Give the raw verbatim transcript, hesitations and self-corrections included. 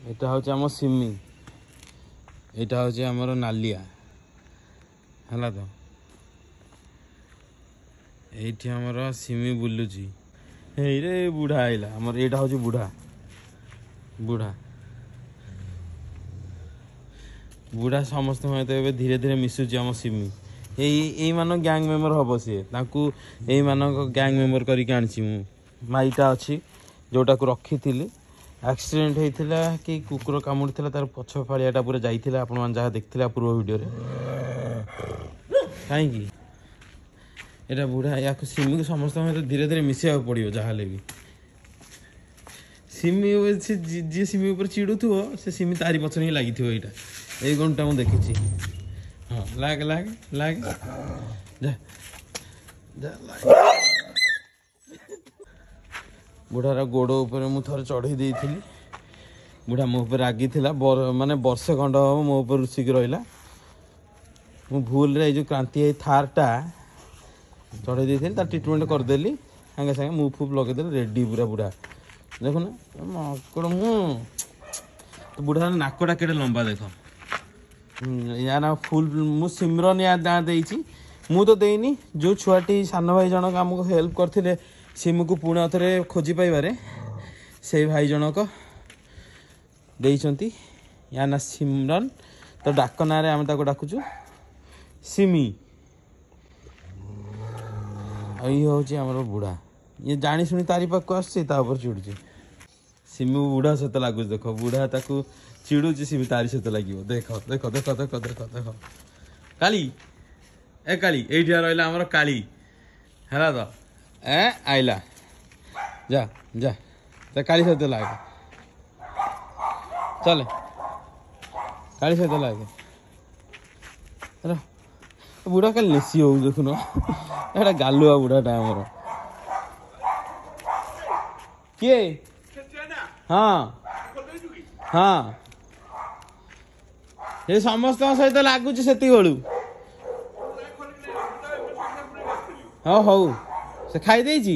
ଏଇଟା ହେଉଛି ଆମ ସିମି, ଏଇଟା ହେଉଛି ଆମର ନାଲିଆ, ହେଲା ତ। ଏଇଠି ଆମର ସିମି ବୁଲୁଛି। ଏଇରେ ବୁଢ଼ା ଆଇଲା ଆମର। ଏଇଟା ହେଉଛି ବୁଢ଼ା, ବୁଢ଼ା ବୁଢ଼ା ସମସ୍ତଙ୍କ ସହିତ ଏବେ ଧୀରେ ଧୀରେ ମିଶୁଛି ଆମ ସିମି। ଏଇ ଏଇମାନଙ୍କ ଗ୍ୟାଙ୍ଗ ମେମ୍ବର ହବ ସିଏ, ତାଙ୍କୁ ଏଇମାନଙ୍କ ଗ୍ୟାଙ୍ଗ ମେମ୍ବର କରିକି ଆଣିଛି ମୁଁ। ମାଇଟା ଅଛି ଯେଉଁଟାକୁ ରଖିଥିଲି, ଆକ୍ସିଡେଣ୍ଟ ହେଇଥିଲା କି କୁକୁର କାମୁଡ଼ିଥିଲା, ତାର ପଛ ଫାଳିଆଟା ପୁରା ଯାଇଥିଲା, ଆପଣମାନେ ଯାହା ଦେଖିଥିଲେ ପୂର୍ବ ଭିଡ଼ିଓରେ। କାହିଁକି ଏଇଟା ବୁଢ଼ା, ୟାକୁ ସିମିକୁ ସମସ୍ତଙ୍କ ସହିତ ଧୀରେ ଧୀରେ ମିଶିବାକୁ ପଡ଼ିବ ଯାହାହେଲେ ବି। ସିମି ସେ ଯିଏ ସିମି ଉପରେ ଚିଡ଼ୁଥିବ, ସେ ସିମି ତାରି ପଛରେ ହିଁ ଲାଗିଥିବ। ଏଇଟା ଏଇ ଗୁଣଟା ମୁଁ ଦେଖିଛି। ହଁ, ଲାଗ ଲାଗ ଲାଗ, ଯା ଯା। ବୁଢ଼ାର ଗୋଡ଼ ଉପରେ ମୁଁ ଥରେ ଚଢ଼େଇ ଦେଇଥିଲି, ବୁଢ଼ା ମୋ ଉପରେ ରାଗିଥିଲା, ମାନେ ବର୍ଷେ ଖଣ୍ଡ ହବ ମୋ ଉପରେ ରୁଷିକି ରହିଲା। ମୁଁ ଭୁଲରେ ଏଇ ଯେଉଁ କ୍ରାନ୍ତି ଏଇ ଥାର୍ଟା ଚଢ଼େଇ ଦେଇଥିଲି, ତା ଟ୍ରିଟମେଣ୍ଟ କରିଦେଲି ସାଙ୍ଗେ ସାଙ୍ଗେ, ମୁଁ ଫୁପ୍ ଲଗେଇଦେଲି, ରେଡ଼ି ପୁରା ବୁଢ଼ା। ଦେଖୁନ ମାଙ୍କଡ଼, ମୁଁ ବୁଢ଼ାର ନାକଟା କେଡ଼େ ଲମ୍ବା ଦେଖ। ୟା ନା ଫୁଲ ମୁଁ ସିମରନ ୟା ନାଁ ଦେଇଛି, ମୁଁ ତ ଦେଇନି। ଯେଉଁ ଛୁଆଟି ସାନ ଭାଇ ଜଣକ ଆମକୁ ହେଲ୍ପ କରିଥିଲେ ସିମକୁ ପୁଣି ଆଉଥରେ ଖୋଜି ପାଇବାରେ, ସେଇ ଭାଇ ଜଣକ ଦେଇଛନ୍ତି ୟା ନା ସିମରନ। ତ ଡାକ ନାଁରେ ଆମେ ତାକୁ ଡାକୁଛୁ ସିମି। ଆଉ ଇଏ ହେଉଛି ଆମର ବୁଢ଼ା, ଇଏ ଜାଣି ଶୁଣି ତାରି ପାଖକୁ ଆସୁଛି, ତା ଉପରେ ଚିଡ଼ୁଛି। ସିମି ବୁଢ଼ା ସହିତ ଲାଗୁଛି, ଦେଖ ବୁଢ଼ା ତାକୁ ଚିଡ଼ୁଛି, ସିମି ତାରି ସହିତ ଲାଗିବ। ଦେଖ ଦେଖ ଦେଖ ଦେଖ ଦେଖ ଦେଖ, କାଳି ଏ କାଳି, ଏଇଠି ରହିଲା ଆମର କାଳି, ହେଲା ତ। ଏ ଆଇଲା, ଯା ଯା, କାଳି ସହିତ ଲାଗେ, ଚାଲେ କାଳି ସହିତ ଲାଗେ। ବୁଢ଼ା କାଲି ନେସି ହଉ, ଦେଖୁନ ଏଇଟା ଗାଲୁଆ ବୁଢ଼ାଟା ଆମର। କିଏ? ହଁ ହଁ, ସେ ସମସ୍ତଙ୍କ ସହିତ ଲାଗୁଛି ସେତିକି ବେଳୁ। ହଉ ହଉ, ସେ ଖାଇ ଦେଇଛି।